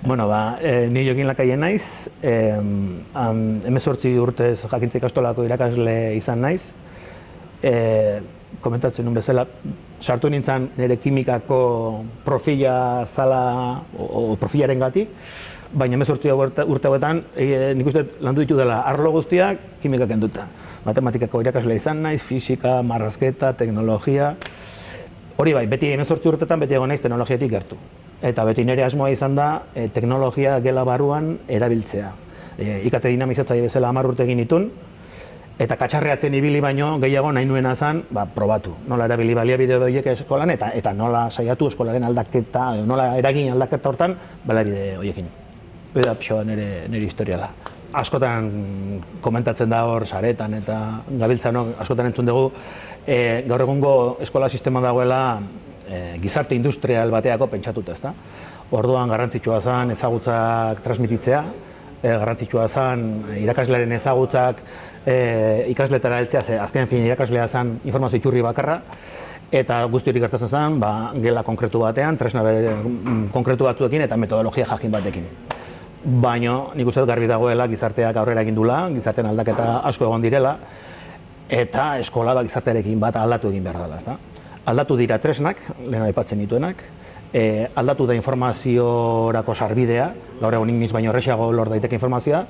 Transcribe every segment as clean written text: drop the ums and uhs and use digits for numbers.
Bueno, ni Jokin Lakaien naiz, 18 urtez jakintza ikastolako irakasle izan naiz. Komentatzen nuen bezala, sartu nintzen nire kimikako profila zala, o profilaren gatik, baina 18 urte hauetan, nik uste landu ditu dela arlo guztiak kimikak enduta. Matematikako irakasle izan naiz, fisika, marrazketa, teknologia. Hori bai, beti 18 urtetan beti egon naiz teknologiatik gertu. Eta beti nire asmoa izan da teknologia gela barruan erabiltzea. IKT dinamizatzaile bezala 10 urte egin nituen, eta katxarreatzen ibili baino gehiago nahi nuena zen probatu. Nola erabili baliabide horiek eskolan eta nola saiatu eskolaren aldaketa, nola eragin aldaketa hortan baliabide horiekin. Hori da pixoa nire historiala. Askotan komentatzen da hor saretan eta gabiltzanok askotan entzun dugu gaur egungo eskola sistema dagoela gizarte industrial bateako pentsatuta, ezta? Orduan garrantzitsua zen ezagutzak transmititzea, garrantzitsua zen irakaslearen ezagutzak ikasletara heltzea, ze azken fin irakaslea zen informazio iturri bakarra, eta guzti hori gertatzen zen gela konkretu batean, tresna konkretu batzuekin eta metodologia jakin batekin. Baina nik uste dut garbi dagoela gizarteak aurrera egin dula, gizartean aldaketa asko egon direla, eta eskola gizartearekin bat aldatu egin behar dela, ezta? Aldatu dira tresnak, lehen aipatzen dituenak, aldatu da informaziorako sarbidea, gaur egun inoiz baino errazago lor daiteke informazioa,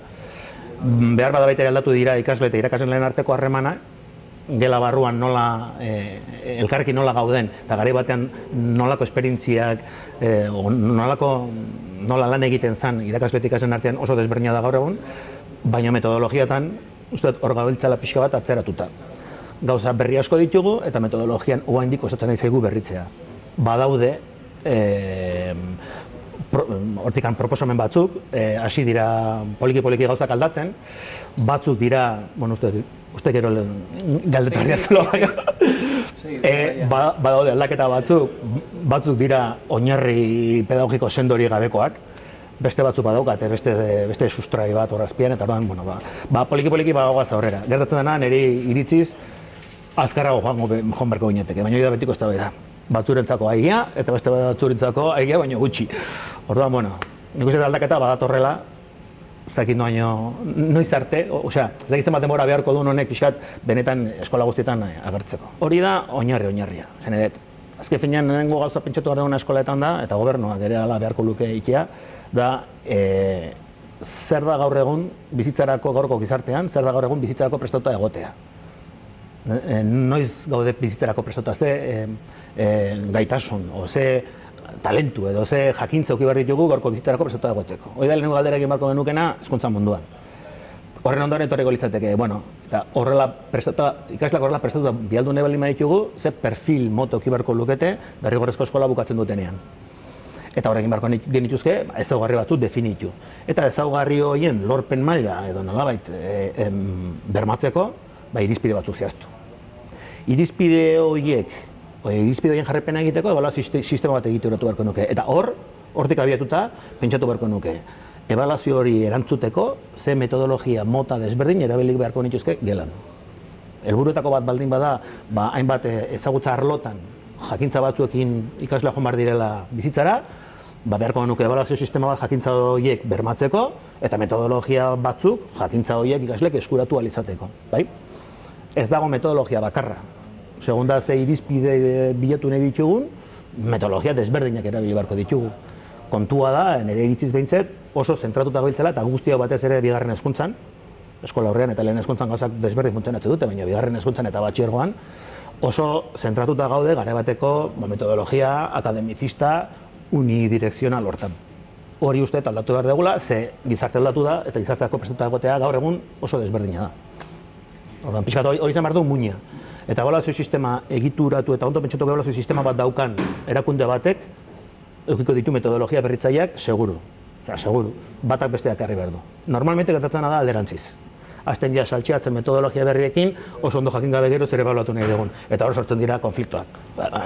behar bada baita aldatu dira ikasle eta irakasleen arteko harremana, gela barruan nola, elkarrekin nola gauden, eta garai batean nolako esperientziak, nola lan egiten zen irakasle eta ikasleen artean oso desberdina da gaur egun, baina metodologiatan, uste dut hor gabiltzala pixka bat atzeratuta. Gauza berri asko ditugu eta metodologian oraindik kostatzen ari zaigu berritzea. Badaude hortikan proposamen batzuk, hasi dira poliki gauzak aldatzen, batzuk dira, bueno, uste gero galdetarria zelo, badaude aldaketa batzuk dira oinarri pedagogiko sendori gabekoak, beste batzuk badaukate, beste sustrai bat horrazpian, eta orduan, poliki badagoaz aurrera. Gertatzen dena, niri iritziz, azkarrago joan berko gineteke, baina hori da betiko ez da. Batzurentzako aigia, eta beste batzurentzako aigia, baina gutxi. Orduan, nik uste aldaketa badatorrela, ez dakit noiz arte, osea, ez dakit zenbat denbora beharko duen honek pixkat benetan eskola guztietan agertzeko. Hori da oinarria. Azken finean, nengo gauza pentsatu gara duguna eskoletan da, eta gobernuak ere ala beharko luke ikia, da zer da gaur egun bizitzarako gaurko gizartean, zer da gaur egun bizitzarako prestatuta egotea. Noiz gaude bizitzarako prestatuta, ze gaitasun, o ze talentu edo ze jakintza uki behar ditugu gaurko bizitzarako prestatuta egoteko. Hori da lehenengo galdera egin beharko genukena hezkuntza munduan. Horren ondoren etorriko litzateke, eta ikasleak horrela prestatuta bialdu nahi baldin baditugu, ze perfil moto uki beharko lukete derrigorrezko eskola bukatzen dutenean. Eta horrekin beharko genituzke, ezaugarri batzuk definitu. Eta ezaugarri horien lorpen maila edo nolabait bermatzeko, irizpide batzuk zehaztu. Irizpide horien jarrepena egiteko, ebaluazio sistema bat egituratu beharko nuke. Eta hortik abiatuta, pentsatu beharko nuke. Ebaluazio hori erantzuteko, ze metodologia mota desberdin erabilik beharko nituzke gelan. Helburuetako bat baldin bada, hainbat ezagutza arlotan, jakintza batzuekin ikaslea joan behar direla bizitzara, beharko nuke ebaluazio sistema bat jakintza horiek bermatzeko, eta metodologia batzuk jakintza horiek ikasleek eskuratu ahal izateko. Ez dago metodologia bakarra. Segunda ze irizpide bilatu nahi ditugun, metodologia desberdinak erabili beharko ditugu. Kontua da, nire iritziz behintzet, oso zentratuta gabiltzela eta guztiak batez ere bigarren hezkuntzan, eskola horrean eta lehen hezkuntzan gauzak desberdin funtzionatzen dute, baina bigarren hezkuntzan eta batxilergoan, oso zentratuta gaude garai bateko metodologia akademizista unidirekzional hortan. Hori uste aldatu behar dugula, ze gizarte aldatu da eta gizarteako prestatuta egotea gaur egun oso desberdina da. Orduan, pixkat hori izan behar du muina. Eta ebaluazio sistema egituratu eta ondo pentsatu ebaluazio sistema bat daukan erakunde batek, edukiko ditu metodologia berritzaileak seguru. Seguru, batak besteak harri behar du. Normalmente gertatzen da alderantziz. Azten ja saltxeatzen metodologia berriekin, oso ondo jakin gabe gero zer ebaluatu nahi dugun. Eta hor sortzen dira konfliktoak.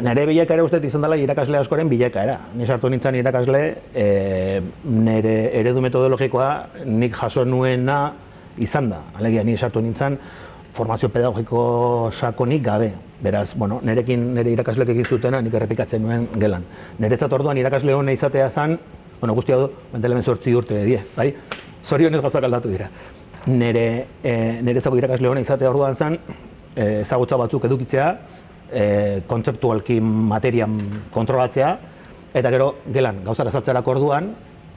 Nire bilakaera uste izan dela irakasle askoren bilakaera. Ni sartu nintzen irakasle, nire eredu metodologikoa nik jaso nuena izan da. Alegia, ni sartu nintzen formazio pedagogiko sakonik gabe. Beraz, nire irakasleek egin zutena nik errepikatzen nuen gelan. Niretzat orduan irakasle hona izatea zen Bueno, guzti hau, bentelemen 8 urte die, bai? Zorionez gauzak aldatu dira. Niretzako irakasle hona izatea orduan zen, ezagutza batzuk edukitzea, kontzeptualki materian kontrolatzea, eta gero gelan gauzak azaltzerako orduan,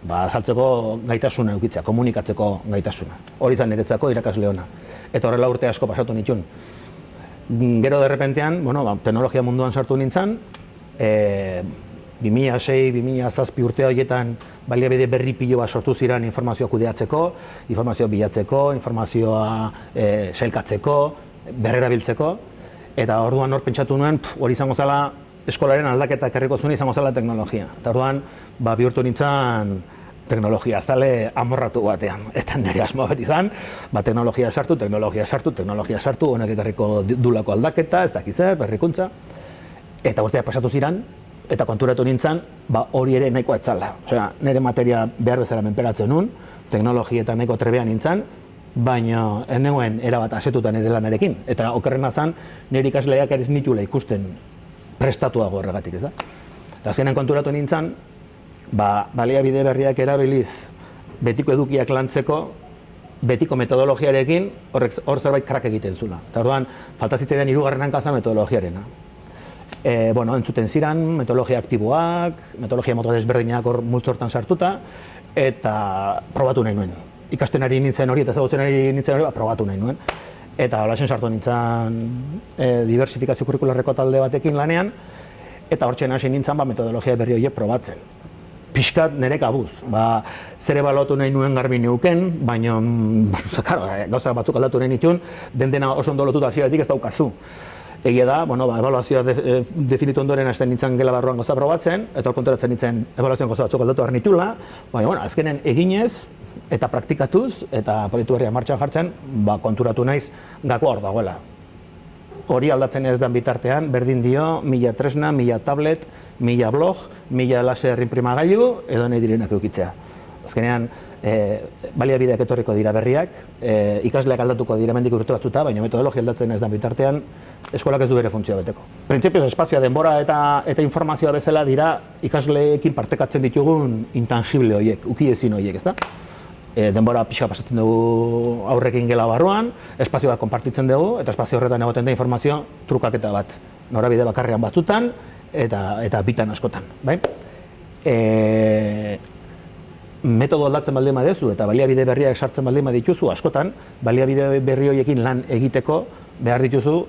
azaltzeko gaitasuna edukitzea, komunikatzeko gaitasuna. Hori zen niretzako irakasle hona. Eta horrela urte asko pasatu nituen. Gero derrepentean, teknologia munduan sartu nintzen, 2006-2007 urte horietan baliabide berri pilo bat sortu ziren informazioa kudeatzeko, informazioa bilatzeko, informazioa sailkatzeko, berrerabiltzeko, eta orduan hor pentsatu nuen, hori izango zela eskolaren aldaketa ekarriko zuen izango zela teknologia. Eta orduan, bihurtu nintzen teknologia zale amorratu batean. Eta nire asmoa beti izan, teknologia sartu, honek ekarriko dulako aldaketa, ez dakiz zer, berrikuntza. Eta urteak pasatu ziren, eta konturatu nintzen, hori ere nahikoa etzala. Osea, nire materia behar bezala menperatzen nun, teknologietan nahiko trebean nintzen, baina ez nengoen erabat asetuta nire lanarekin. Eta okerrena zen, nire ikasleak ez nitula ikusten prestatuago horregatik, ez da? Eta azkenean konturatu nintzen, baliabide berriak erabiliz betiko edukiak lantzeko, betiko metodologiarekin hor zerbait krak egiten zula. Eta orduan, falta zitzaidan hirugarren hankaza metodologiarena. Entzuten ziren, metodologia aktiboak, metodologia mota desberdinak hor multzortan sartuta, eta probatu nahi nuen. Ikasten ari nintzen hori eta ezagutzen ari nintzen hori, probatu nahi nuen. Eta holasen sartu nintzen diversifikazio kurrikularreko talde batekin lanean, eta hortxen hasi nintzen metodologia berri horiek probatzen. Pixkat nire kabuz. Zer ebaluatu nahi nuen garbi neuken, baina gauza batzuk aldatu nahi nituen, dena oso ondo lotuta hasieratik ez daukazu. Egia da, ebaluazioa definitu ondoren hasten nintzen gela barruan gauza probatzen, eta hor konturatzen nintzen ebaluazioan gauza batzuk aldatu behar nitula, baina azkenen eginez eta praktikatuz eta proiektu berria martxan jartzen, konturatu naiz gakoa hor dagoela. Hori aldatzen ez den bitartean, berdin dio, 1000 tresna, 1000 tablet, 1000 blog, 1000 laser inprimagailu, edo nahi direnak eukitzea. Azkenean, baliabideak etorriko dira berriak, ikasleak aldatuko dira mendik urte batzuta, baina metodologia aldatzen ez den bitartean, eskolak ez du bere funtzioa beteko. Printzipioz, espazioa, denbora eta informazioa bezala dira ikasleekin partekatzen ditugun intangible horiek, ukiezin horiek, ezta? Denbora pixka pasatzen dugu aurrekin gela barruan, espazioa konpartitzen dugu, eta espazio horretan egoten da informazio trukaketa bat. Norabide bakarrean batzutan, eta bitan askotan. Metodo aldatzen baldin badezu eta baliabide berriak sartzen baldin badituzu askotan, baliabide berri horiekin lan egiteko behar dituzu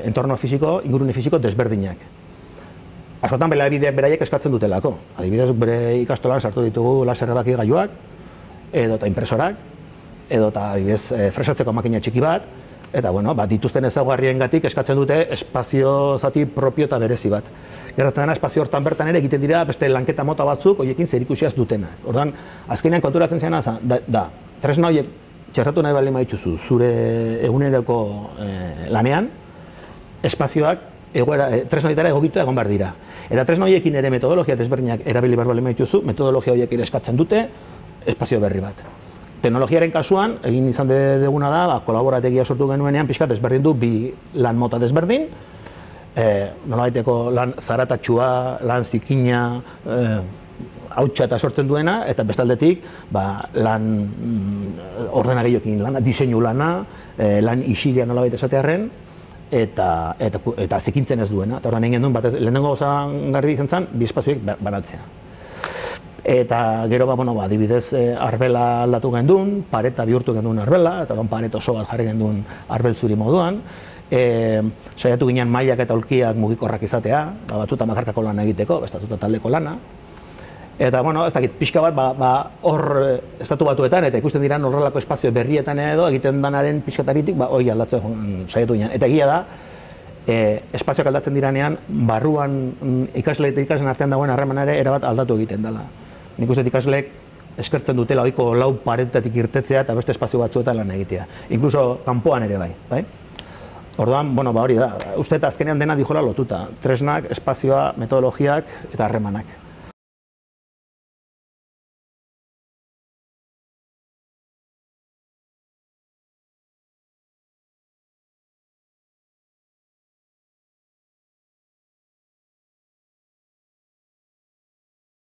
entorno fisiko, ingurune fisiko desberdinak. Askotan baliabideak beraiek eskatzen dutelako. Adibidez, bere ikastolan sartu ditugu laser erabakigailuak, edota impresorak, edota fresatzeko makina txiki bat, eta dituzten ezaugarriengatik eskatzen dute espazio zati propio eta berezi bat. Gertatzen dena, espazio hortan bertan ere egiten dira beste lanketa mota batzuk horiekin zerikusiaz dutena. Orduan, azkenean konturatzen zena da, tresna horiek txertatu nahi baldin badituzu zure eguneroko lanean, espazioak tresna horietara egokitu egon behar dira. Eta tresna horiekin ere metodologia desberdinak erabili behar baldin badituzu, metodologia horiek ere eskatzen dute espazio berri bat. Teknologiaren kasuan, egin izan duguna da, kolaborategia sortu genuenean, pixkat desberdin du bi lan mota desberdin, nolabaiteko lan zaratatxua, lan zikina, hautsa eta sortzen duena, eta bestaldetik lan ordenagailoekin lana, diseinu lana, lan isilia nolabait esatearren, eta zikintzen ez duena. Eta horren egin duen, lehenengo gauza garbi izan zen, bi espazioek banatzea. Eta gero, adibidez, arbela aldatu gendun, pareta bihurtu gendun arbela, eta paret oso bat jarri gendun arbel zuri moduan. Saiatu ginen mailak eta aulkiak mugikorrak izatea, batzuta makarkako lana egiteko, bestatuta taldeko lana. Eta, ez dakit, pixka bat, hor estatu batuetan, eta ikusten dira horrelako espazio berrietan edo, egiten danaren pixkataritik, hori aldatzen saiatu ginen. Eta egia da, espazioak aldatzen diranean, barruan ikasle eta ikasleen artean dagoen harreman ere erabat aldatu egiten dela. Nik uste ikasleek eskertzen dutela ohiko lau paretatik irtetzea eta beste espazio batzuetan lan egitea. Inkluso kanpoan ere bai. Orduan, hori da, uste eta azkenean dena dijola lotuta. Tresnak, espazioa, metodologiak eta harremanak.